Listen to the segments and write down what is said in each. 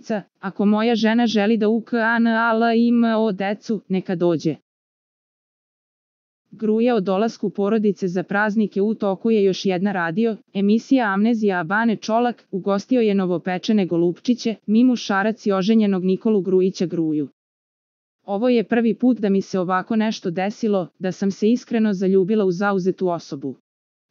meseca, ako moja žena želi da UKANALIMO decu, neka dođe. Gruja o dolasku porodice za praznike u toku je još jedna radio emisija Amnezija, a Bane Čolak ugostio je novopečene golupčiće, Mimu Šarac i oženjenog Nikolu Grujića Gruju. Ovo je prvi put da mi se ovako nešto desilo, da sam se iskreno zaljubila u zauzetu osobu.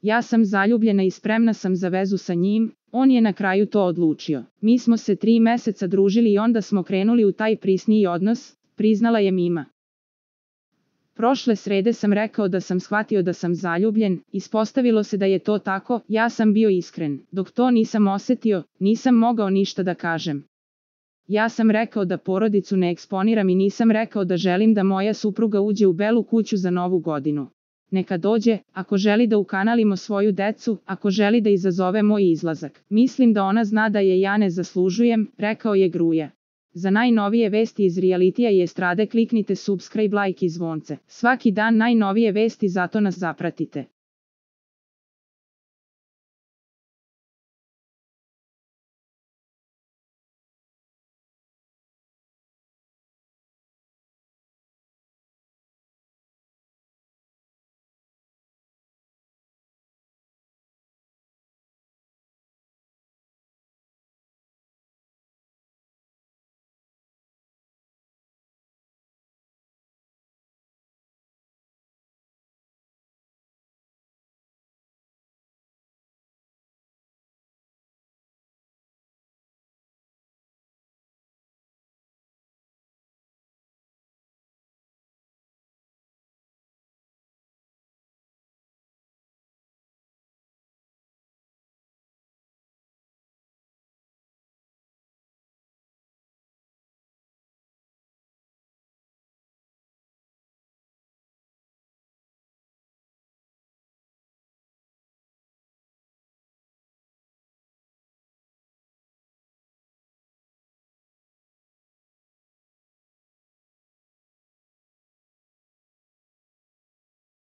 Ja sam zaljubljena i spremna sam za vezu sa njim, on je na kraju to odlučio. Mi smo se 3 meseca družili i onda smo krenuli u taj prisniji odnos, priznala je Mima. Prošle srede sam rekao da sam shvatio da sam zaljubljen, ispostavilo se da je to tako, ja sam bio iskren. Dok to nisam osetio, nisam mogao ništa da kažem. Ja sam rekao da porodicu ne eksponiram i nisam rekao da želim da moja supruga uđe u Belu kuću za Novu godinu. Neka dođe, ako želi da ukanalimo svoju decu, ako želi da izazove moj izlazak. Mislim da ona zna da je ja ne zaslužujem, rekao je Gruja. Za najnovije vesti iz realitija i estrade kliknite subscribe, like i zvonce. Svaki dan najnovije vesti, zato nas zapratite.